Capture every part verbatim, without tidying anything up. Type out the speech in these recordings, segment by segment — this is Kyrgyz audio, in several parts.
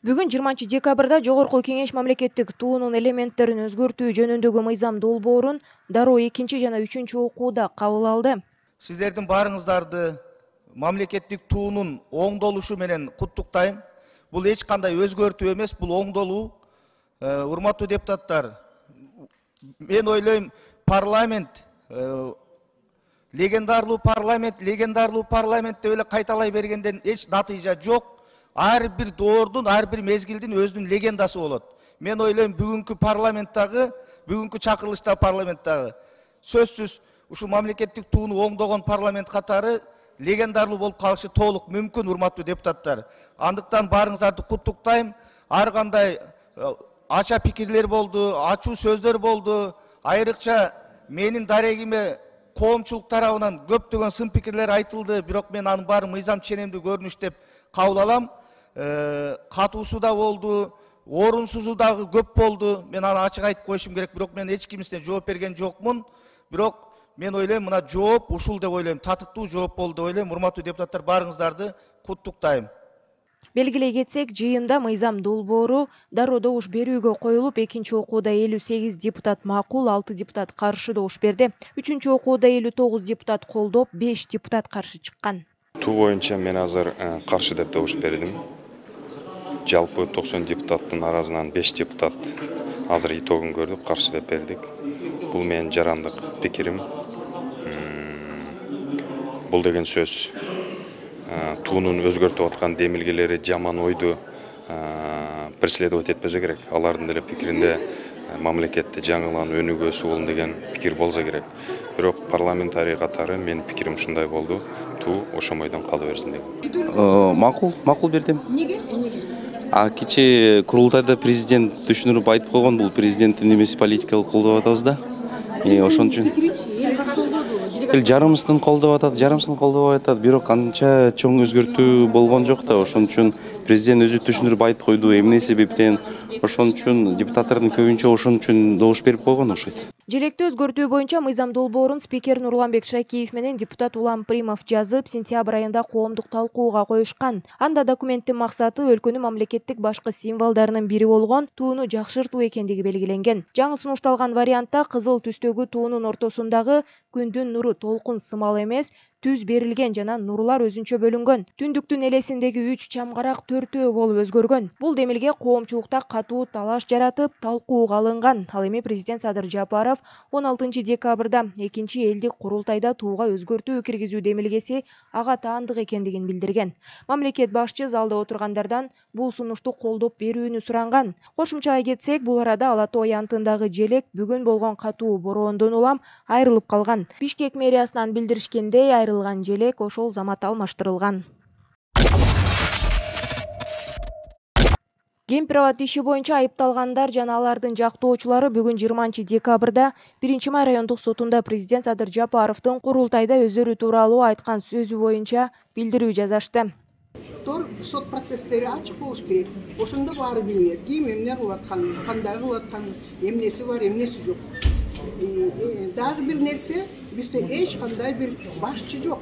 Бүгүн жыйырманчы декабрда Жогорку Кеңеш мамлекеттик туунун элементтерин өзгөртүү жөнүндөгү мыйзам долбоорун дароо экинчи жана үчүнчү окууда кабыл алды. Сиздердин баарыңыздарды мамлекеттик туунун оңдолушу менен куттуктайм. Бул эч кандай өзгөртүү эмес, бул оңдолуу. Урматтуу депутаттар, мен ойлойм, парламент легендарлуу парламент, легендарлуу парламент деп эле кайталай бергенден эч натыйжа жок. Ар бир доордун, ар бир мезгилдин өзүнүн легендасы болот. Мен ойлойм, бүгүнкү парламенттагы, бүгүнкү чакырылышта парламенттагы сөзсүз ушу мамлекеттик тууну оңдогон парламент катары легендарлуу болуп калышы толук мүмкүн, урматтуу депутаттар. Андыктан баарыңыздарды куттуктайм. Ар кандай ача пикирлер болду, ачуу сөздөр болду. Айрыкча менин дарегиме коомчулук тарабынан көптөгөн сын пикирлер айтылды, бирок мен анын баарын мыйзам ченемдүү көрүнүш деп кабыл алам. Катуусу да болду, орунсузу дагы көп болду. Мен аны ачык айтып коюшум керек, бирок мен эч кимисине жооп берген жокмун. Бирок мен ойлойм, мына жооп ушул деп ойлойм, татыктуу жооп болду деп ойлойм. Урматтуу депутаттар, баарыңыздарды куттуктайм. Белгилей кетсек, жыйында мыйзам долбоору дароо добуш берүүгө коюлуп, экинчи окууда элүү сегиз депутат макул, алты депутат каршы добуш берди. Үчүнчү окууда элүү тогуз депутат колдоп, беш депутат каршы чыккан. Туу боюнча мен азыр каршы деп добуш бердим. Жалпы токсон депутаттын арасынан беш депутат азыр итогун көрдүк, каршы деп бердик. Бул менин жарандык пикирим. Бул деген сөз туунун өзгөртүп аткан демилгелери жаман ойду преследовать этпесе керек. Алардын деле пикиринде мамлекетти жаңылан өнүгүүсү болун деген пикир болсо керек. Бирок парламентарий катары менин пикирим ушундай болду. Туу ошомойдон кала берсин деп. Макул, макул бердим. Неге? А кечээ курултайда президент түшүндүрүп айтып койгон, бул президенттин эмеси политикалык колдоп атабыз да. Ошон үчүн эл жарымысын колдоп атат, жарымысын колдобой атат, бирок анча чоң өзгөртүү болгон жок да. Ошон үчүн президент өзү түшүндүрүп айтып койду, эмне себептен. Ошон үчүн депутаттардын көбүнчө ошон үчүн добуш берип койгон окшойт. Желекти өзгөртүү боюнча мыйзам долбоорун спикер Нурланбек Шакиев менен депутат Улам Примов жазып, сентябрь айында коомдук талкууга коюшкан. Анда документтин максаты өлкөнүн мамлекеттик башкы символдорунун бири болгон тууну жакшыртуу экендиги белгиленген. Жаңы сунушталган вариантта кызыл түстөгү туунун ортосундагы күндүн нуру толкун сымал эмес, түз берилген жана нурлар өзүнчө бөлүнгөн. Түндүктүн элесиндеги үч чамгарак төртөө болуп өзгөргөн. Бул демилге коомчулукта катуу талаш жаратып, талкууга алынган. Ал эми президент Садыр Жапаров он алтынчы декабрда экинчи элдик курултайда тууга өзгөртүү киргизүү демилгеси ага таандык экендигин билдирген. Мамлекет башчы залда отургандардан бул сунушту колдоп берүүнү суранган. Кошумчалай кетсек, бул арада Ала Тоо аянтындагы желек бүгүн болгон катуу бороондон улам айрылып калган. Бишкек мэриясынан билдиришкендей, айрылган желек ошол замат алмаштырылган. Кемпир-абад иши боюнча айыпталгандар жана алардын жактоочулары бүгүн жыйырманчы декабрда биринчи май райондук сотунда президент Садыр Жапаровдун курултайда өздөрү тууралуу айткан сөзү боюнча билдирүү жазышты. Тор сот процесстери ачык болуш керек. Ошондо баары билинет. Ким эмне кылып атканын, кандай кылып атканын, эмнеси бар, эмнеси жок. Дагы бир нерсе, бизде эч кандай бир башчы жок.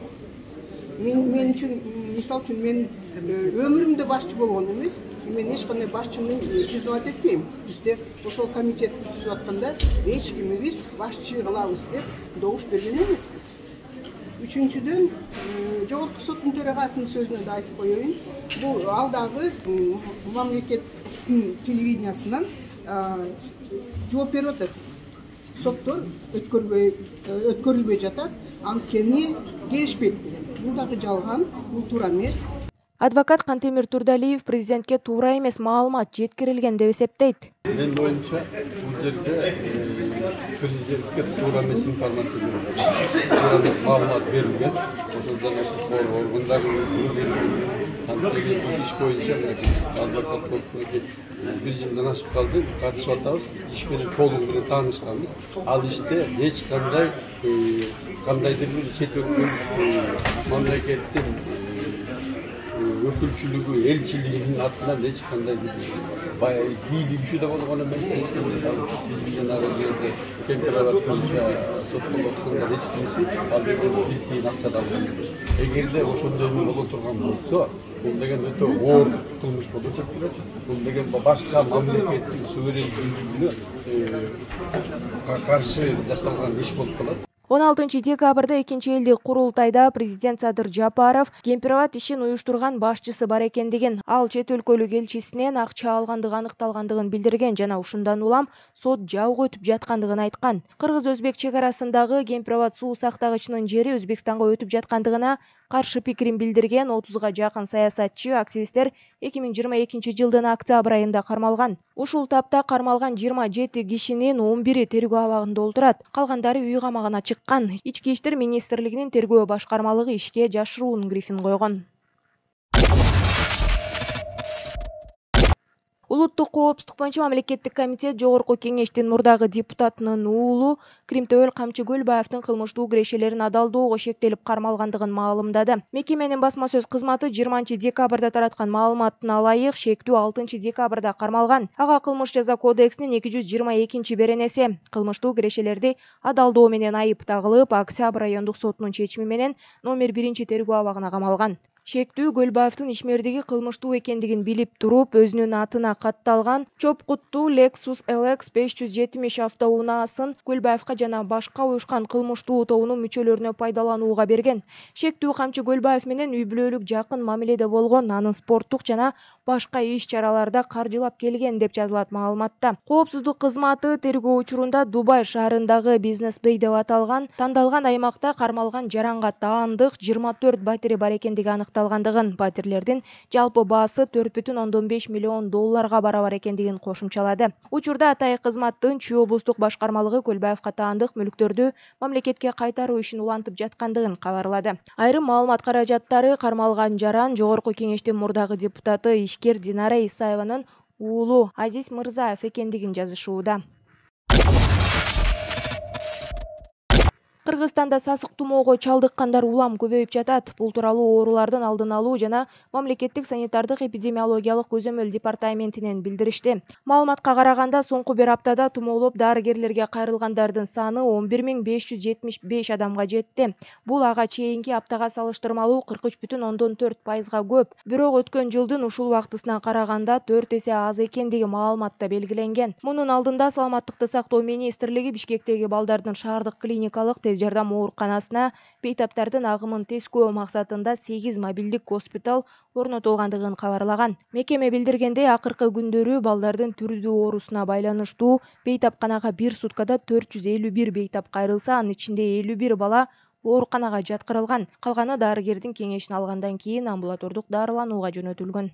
Мен мен үчүн, мисал үчүн, мен өмүрүмдө башчы болгон эмес, мен эч кандай башчыны признавать этпейм. Бизде ошол комитетти түзүп атканда эч кимибиз башчы кылабыз деп добуш берген эмеспиз. Үчүнчүдөн, жогорку соттун төрагасынын сөзүнө да айтып коеюн. Бул алдагы мамлекет телевидениясынан жооп берип атат. Соттор өткөрбөй өткөрүлбөй жатат, анткени келишпейт деген. Бул дагы жалган, бул туура эмес. Адвокат Кантемир Турдалиев президентке туура эмес маалымат жеткирилген деп эсептейт. Мен боюнча бул жерде президентке туура эмес информация берилген. Туура эмес маалымат берилген. Ошондон органдардын иш боюнча адвокат корпусунун режимден ашып калды, катышып атабыз. Иш менен толугу менен таанышканбыз. Ал иште эч кандай кандайдыр бир чет өлкөнүн мамлекеттин өкүлчүлүгү, элчилигинин атынан эч кандай бийлик күчү да болгон эмес. Биз менен ары жерде Кемпирабад боюнча соттолуп аткандар эч кимиси ал бир тиын акча да алган эмес. Эгерде ошондой боло турган болсо, бул деген өтө оор кылмыш болуп эсептелет. Бул деген башка мамлекеттин суверендүүлүгүнө каршы жасалган иш болуп калат. он алтынчы декабрда экинчи элдик курултайда президент Садыр Жапаров Кемпирабад ишин уюштурган башчысы бар экендигин, ал чет өлкөлүк элчисинен акча алгандыгы аныкталгандыгын билдирген жана ушундан улам сот жабык өтүп жаткандыгын айткан. Кыргыз-өзбек чек арасындагы Кемпирабад суу сактагычынын жери Өзбекстанга өтүп жаткандыгына каршы пикирин билдирген отузга жакын саясатчы, активисттер эки миң жыйырма экинчи жылдын октябрь айында кармалган. Ушул тапта кармалган жыйырма жети кишинин он бири тергөө абагында отурат, калгандары үй камагына чыккан. Ички иштер министрлигинин тергөө башкармалыгы ишке жашыруун грифин койгон. Улуттук коопсуздук боюнча мамлекеттик комитет Жогорку кеңештин мурдагы депутатынын уулу Кримтөбөл Камчы Көлбаевдин кылмыштуу кирешелерин адалдоого шектелип кармалгандыгын маалымдады. Мекеменин басма сөз кызматы жыйырманчы декабрда тараткан маалыматына ылайык Шектүү алтынчы декабрда кармалган. Ага кылмыш жаза кодексинин эки жүз жыйырма экинчи беренеси кылмыштуу кирешелерди адалдоо менен айып тагылып, Октябрь райондук сотунун чечими менен номер биринчи тергөө абагына камалган. Шектүү Көлбаевдин ишмердиги кылмыштуу экендигин билип туруп, өзүнүн атына катталган чоп-куттуу Lexus L X беш жүз жетимиш автоунаасын Көлбаевка жана башка уюшкан кылмыштуу тобунун мүчөлөрүнө пайдаланууга берген. Шектүү Камчы Көлбаев менен үй бүлөлүк жакын мамиледе болгон, анын спорттук жана башка иш-чараларда каржылап келген деп жазылат маалыматта. Коопсуздук кызматы тергөө учурунда Дубай шаарындагы Бизнес Бэй деп аталган тандалган аймакта кармалган жаранга таандык жыйырма төрт батири бар экендиги аныкталгандыгын, батирлердин жалпы баасы төрт бүтүн ондон беш миллион долларга барабар экендигин кошумчалады. Учурда атайык кызматтын Чүй облустук башкармалыгы Көлбаевка таандык мүлктөрдү мамлекетке кайтаруу ишин улантып жаткандыгын кабарлады. Айрым маалымат каражаттары кармалган жаран Жогорку кеңештин мурдагы депутаты ишкер Динара Исаеванын уулу Азиз Мырзаев экендигин жазышууда. Кыргызстанда сасык тумоого чалдыккандар улам көбөйүп жатат. Бул тууралуу оорулардын алдын алуу жана мамлекеттик санитардык эпидемиологиялык көзөмөл департаментинен билдиришти. Маалыматка караганда, соңку бир аптада тумоолоп дарыгерлерге кайрылгандардын саны он бир миң беш жүз жетимиш беш адамга жетти. Бул ага чейинки аптага салыштырмалуу кырк үч бүтүн ондон төрт пайызга көп. Бирок өткөн жылдын ушул убактысына караганда төрт эсе аз экендиги маалыматта белгиленген. Мунун алдында Саламаттыкты сактоо министрлиги Бишкектеги балдардын шаардык клиникалык тез жардам ооруканасына бейтаптардын агымын тескөө максатында сегиз мобилдик госпиталь орнотулгандыгын кабарлаган. Мекеме билдиргендей, акыркы күндөрү балдардын түрдүү оорусуна байланыштуу бейтапканага бир суткада төрт жүз элүү бир бейтап кайрылса, анын ичинде элүү бир бала ооруканага жаткырылган. Калганы дарыгердин кеңешин алгандан кийин амбулатордук дарыланууга жөнөтүлгөн.